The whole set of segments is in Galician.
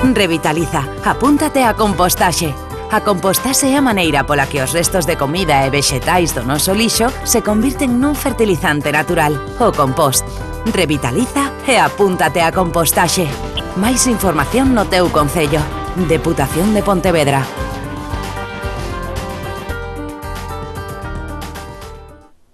Revitaliza, apúntate a compostaxe. A compostaxe é a maneira pola que os restos de comida e vexetais do noso lixo se convirten nun fertilizante natural, o compost. Revitaliza e apúntate a compostaxe. Máis información no teu concello. Deputación de Pontevedra.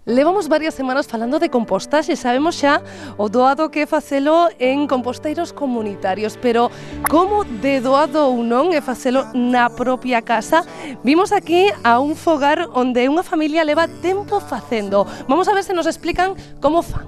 Levamos varias semanas falando de compostaxe, sabemos xa o doado que é facelo en composteiros comunitarios, pero como de doado ou non é facelo na propia casa? Vimos aquí a un fogar onde unha familia leva tempo facendo. Vamos a ver se nos explican como fan.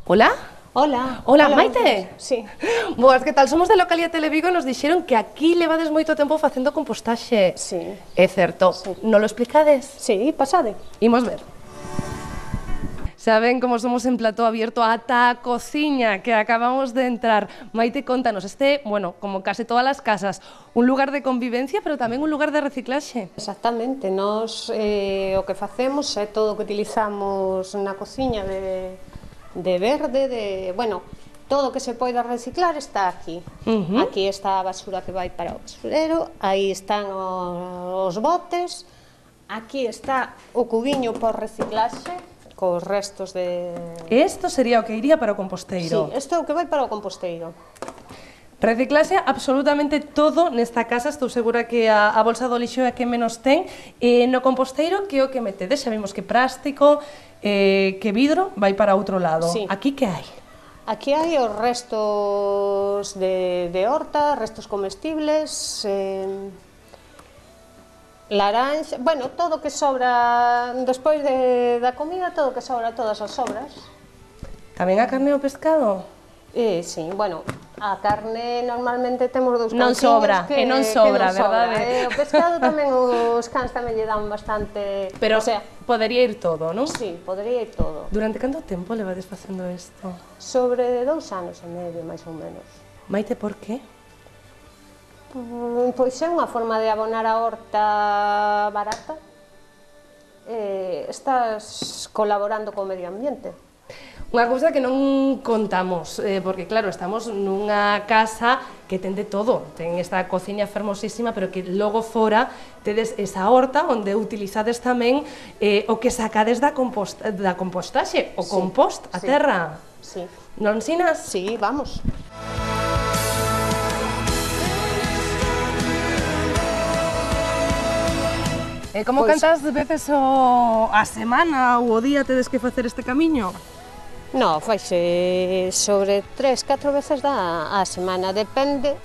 Hola? Hola. Hola, Maite? Sí. Boas, que tal? Somos de Localidade Televigo e nos dixeron que aquí levades moito tempo facendo compostaxe. Sí. É certo. Sí. Non lo explicades? Sí, pasade. Imos ver. Saben como somos en plató abierto ata a cociña que acabamos de entrar. Maite, contanos, bueno, como case todas as casas, un lugar de convivencia, pero tamén un lugar de reciclaxe. Exactamente. Nos o que facemos é todo o que utilizamos na cociña de verde, bueno, todo o que se poida reciclar está aquí. Aquí está a basura que vai para o basurero, aí están os botes, aquí está o cubiño por reciclaxe, cos restos de... Isto sería o que iría para o composteiro. Sí, isto é o que vai para o composteiro. Reciclase absolutamente todo nesta casa, estou segura que a bolsa do lixo é a que menos ten. No composteiro, que é o que metedes? Xa vimos que plástico, que vidro vai para outro lado. Sí. Aquí que hai? Aquí hai os restos de horta, restos comestibles, laranxa, bueno, todo o que sobra despois da comida, todo o que sobra, todas as sobras. Tamén a carne e o pescado? Sí, bueno, a carne normalmente temos dous Non sobra, que non sobra, que non verdade? O pescado tamén, os cans tamén lle dan bastante... Pero o sea, podería ir todo, non? sí, podería ir todo. Durante canto tempo levades facendo isto? Sobre 2 anos e medio, máis ou menos. Maite, por qué? Pois é unha forma de abonar a horta barata. Estás colaborando co medio ambiente. Unha cousa que non contamos, porque claro, estamos nunha casa que ten de todo, ten esta cociña fermosísima, pero que logo fora tedes esa horta onde utilizades tamén o que sacades da compostaxe, o compost, a terra. Sí. Non ensinas? Sí, vamos. Como cantas veces a semana ou o día tedes que facer este camiño? No, faise sobre 3-4 veces a semana, depende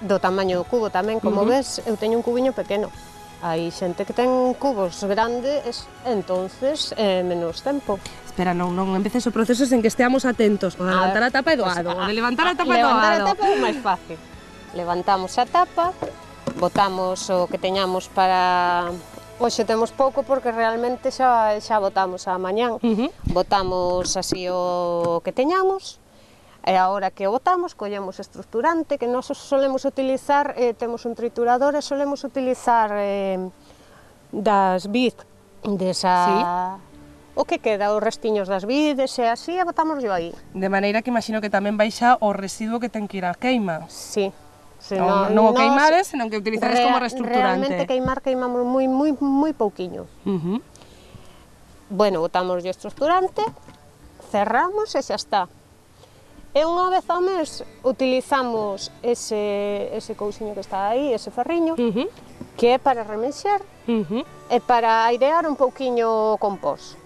do tamaño do cubo tamén, como ves, eu teño un cubiño pequeno. Hai xente que ten cubos grandes, entonces menos tempo. Espera, non empeces o proceso sen que esteamos atentos. O de levantar a tapa é doado, o de levantar a tapa é doado. Levantar a tapa é máis fácil. Levantamos a tapa, botamos o que teñamos para... Hoxe temos pouco porque realmente xa botamos a mañán. Botamos así o que teñamos, e a hora que o botamos, collemos estructurante, que nós solemos utilizar, temos un triturador e solemos utilizar das vid, desa... O que queda, os restiños das vides e así, e botámoslo aí. De maneira que imagino que tamén baixa o residuo que ten que ir á queima. Sí. Non o queimares, senón que utilizades como reestructurante. Realmente queimamos moi pouquiño. Bueno, botamos o estructurante, cerramos e xa está. E unha vez ao mes utilizamos ese cousiño que está aí, ese ferriño, que é para remexer e para airear un pouquiño o compost.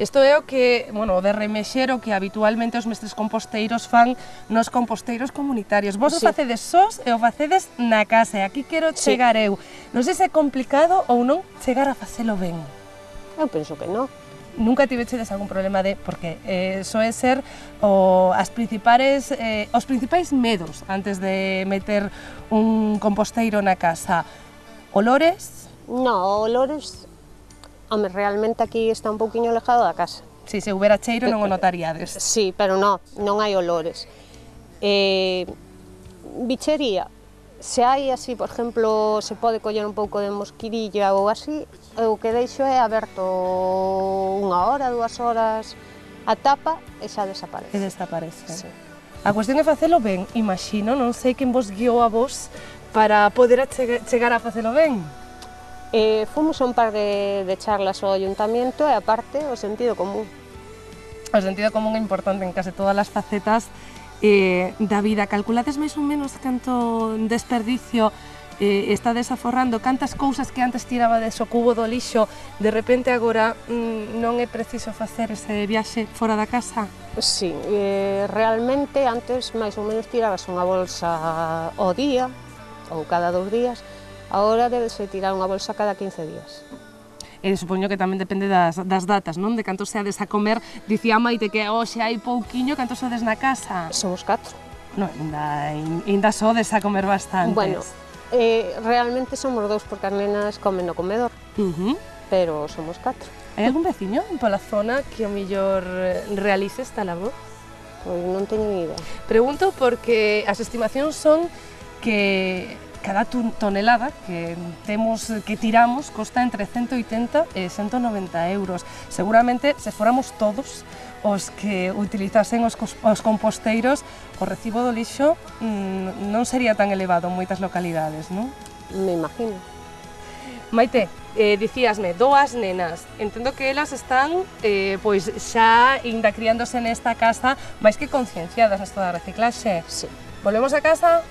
Isto é o que, bueno, de remexer o que habitualmente os mestres composteiros fan nos composteiros comunitarios. Vos o facedes sós e o facedes na casa, e aquí quero chegar eu. Non sei se é complicado ou non chegar a facelo ben. Eu penso que non. Nunca tivechedes algún problema porque soe ser os principais medos antes de meter un composteiro na casa. Olores? No, olores... Home, realmente aquí está un pouquiño alejado da casa. Si, se houbera cheiro non o notaríades. Sí, pero non hai olores. Bichería, se hai así, por exemplo, se pode coller un pouco de mosquirilla ou así, o que deixo é aberto 1 hora, 2 horas, a tapa e xa desaparece. E desaparece. Sí. A cuestión é facelo ben, imagino, non sei quen vos guiou a vos para poder chegar a facelo ben. Fomos a un par de charlas ao ayuntamiento e aparte o sentido común. O sentido común é importante en case todas as facetas da vida. Calculades máis ou menos canto desperdicio estades aforrando, cantas cousas que antes tirabades o cubo do lixo, de repente agora non é preciso facer ese viaxe fora da casa? Sí, realmente antes máis ou menos tirabas unha bolsa ao día ou cada 2 días, agora debese tirar unha bolsa cada 15 días. Supoño que tamén depende das datas, non? De canto seades a comer, dicía Maite que hoxe hai pouquiño, canto sodes na casa? Somos 4. Non, ainda sodes a comer bastantes. Bueno, realmente somos 2 porque as nenas comen no comedor, pero somos 4. Hai algún veciño pola zona que o mellor realice esta labor? Pois non teño ni idea. Pregunto porque as estimacións son que cada tonelada que tiramos costa entre 180 e 190 euros. Seguramente, se fóramos todos os que utilizasen os composteiros, o recibo do lixo non sería tan elevado en moitas localidades, non? Me imagino. Maite, dicíasme, 2 nenas, entendo que elas están pois xa inda criándose nesta casa máis que concienciadas nesto da reciclaxe. Sí. Volvemos a casa?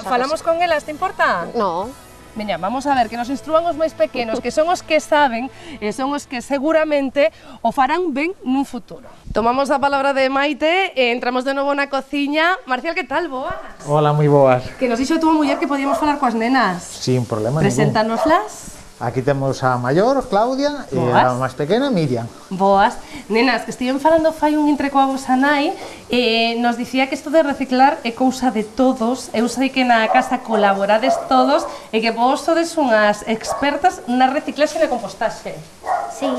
Falamos casa. con elas, te importa? No. Veña, vamos a ver, que nos instrúan os máis pequenos, que son os que saben e son os que seguramente o farán ben nun futuro. Tomamos a palabra de Maite e entramos de novo na cociña. Marcial, que tal? Boas? Hola, moi boas. Que nos dixo a túa muller que podíamos falar coas nenas. Sin problema ningún. Preséntanoslas. Aquí temos a maior, Claudia, e a máis pequena, Miriam. Boas. Nenas, que estiven falando fai un intre coa vosa nai e nos dicía que isto de reciclar é cousa de todos. Eu sei que na casa colaborades todos e que vos sodes unhas expertas na reciclaxe e na compostaxe. Sí.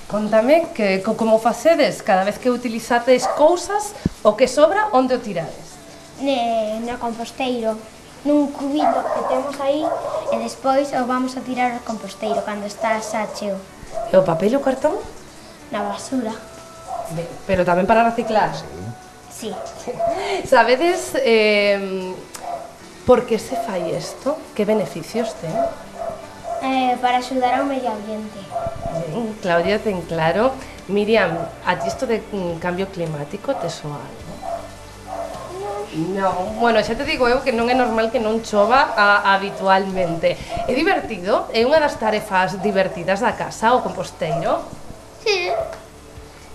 Contame que como facedes cada vez que utilizades cousas, o que sobra, onde o tirades? No composteiro, nun cubito que temos aí e despois o vamos a tirar ao composteiro cando está xa cheo. E o papel e o cartón? Na basura. Ben, pero tamén para reciclar? Sí. Sabedes por que se fai isto? Que beneficios ten? Para axudar ao medio ambiente. Ben, Claudia ten claro. Miriam, a ti isto de cambio climático te soa algo? Non, bueno, xa te digo eu que non é normal que non chova habitualmente. É divertido? É unha das tarefas divertidas da casa, o composteiro? Sí.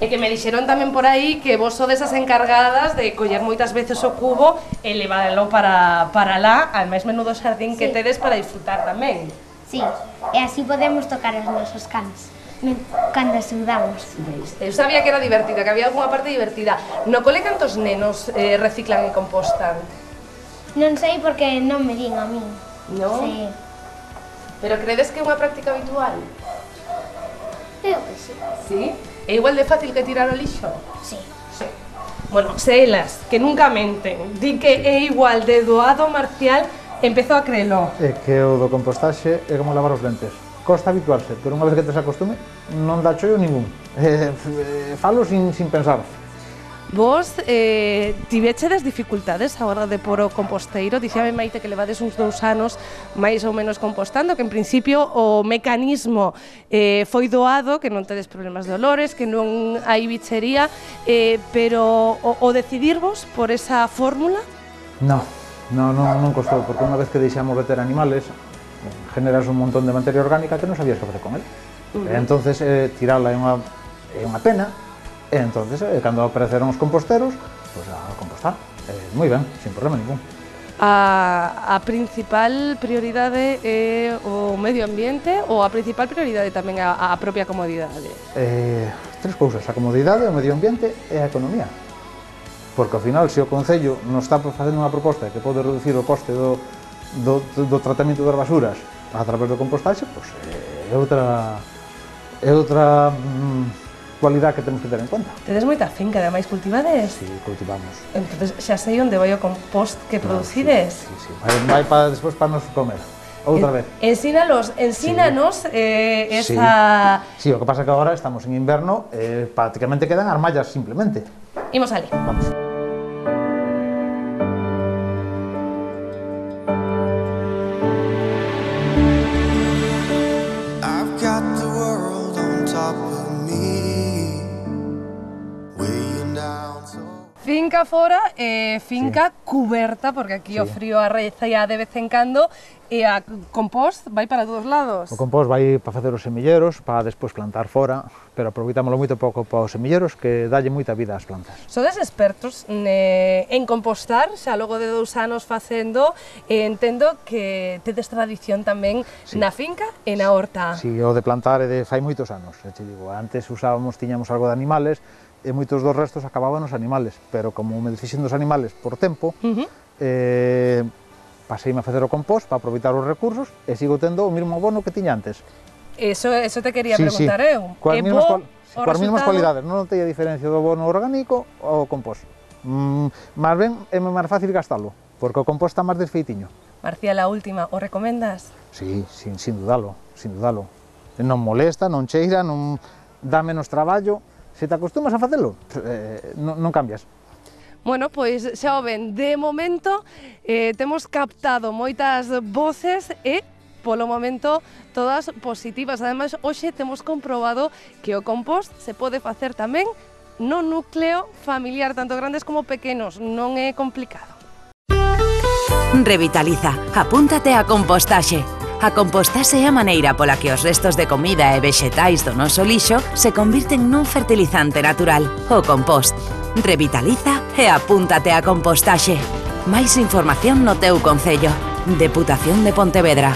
E que me dixeron tamén por aí que vos sodes as encargadas de coller moitas veces o cubo e leválo para lá, al máis menudo xardín que tedes para disfrutar tamén. Sí, e así podemos tocar os nosos cans cando xudamos. Eu sabía que era divertida, que había algunha parte divertida. No cole cantos nenos reciclan e compostan? Non sei porque non me din a min. Non? Sí. Pero credes que é unha práctica habitual? Eu que sí. Sí? É igual de fácil que tirar o lixo? Sí. Sí. Bueno, se elas, que nunca menten, di que é igual de doado, Marcial, empezo a crelo. É que o do compostaxe é como lavar os dentes. Costa habituarse, pero unha vez que te se acostume, non dá chollo ningún. Falo sin pensar. Vos tivechedes dificultades a hora de pôr o composteiro? Dicíame Maite que levades uns 2 anos máis ou menos compostando, que en principio o mecanismo foi doado, que non tedes problemas de olores, que non hai bichería, pero o decidirvos por esa fórmula? Non costou, porque unha vez que deixamos de ter animales, generas un montón de materia orgánica que non sabías que facer con el. Entonces, tirala é unha pena, e entonces, cando apareceron os composteros, pois a compostar. Moi ben, sin problema ningún. A principal prioridade é o medio ambiente ou a principal prioridade tamén a propia comodidade? 3 cousas, a comodidade, o medio ambiente e a economía. Porque ao final, se o Concello non está facendo unha proposta que pode reducir o coste do tratamento das basuras a través do compostaxe, pois é outra cualidade que temos que ter en conta. Tedes moita finca, ademais, cultivades? Si, cultivamos. Entonces xa sei onde vai o compost que producides? Si, vai para despois para nos comer. Outra vez. Ensínanos esa... Sí, o que pasa que agora estamos en inverno, prácticamente quedan as mallas simplemente. Imos ali. Vamos. I've got the world on top of me, weighing down so... Finca fora, finca cuberta, porque aquí o frío arreza de vez en cando, e a compost vai para todos lados. O compost vai para facer os semilleros, para despois plantar fora, pero aproveitámoslo moito pouco para os semilleros, que dalle moita vida ás plantas. Sodes expertos en compostar, xa logo de 2 anos facendo, e entendo que tedes tradición tamén na finca e na horta. Si, o de plantar é de fai moitos anos, te digo, antes tiñamos algo de animales, e moitos dos restos acababan os animales, pero como me desfixen dos animales por tempo, paseime a facer o compost para aproveitar os recursos e sigo tendo o mesmo abono que tiña antes. Eso te quería preguntar eu. Coas mesmas cualidades, non notei a diferencia do abono orgánico ao compost. Máis ben é máis fácil gastalo, porque o compost está máis desfeitiño. Marcial, a última, o recomendas? Sí, sin dudalo. Non molesta, non cheira, non dá menos traballo. Se te acostumas a facelo, non cambias. Bueno, pois xa o ven, de momento temos captado moitas voces e polo momento todas positivas. Ademais, hoxe temos comprobado que o compost se pode facer tamén no núcleo familiar, tanto grandes como pequenos, non é complicado. Revitaliza, apúntate a compostaxe. A compostaxe é a maneira pola que os restos de comida e vexetais do noso lixo se convirten nun fertilizante natural, o compost. Revitaliza e apúntate a compostaxe. Máis información no teu concello. Deputación de Pontevedra.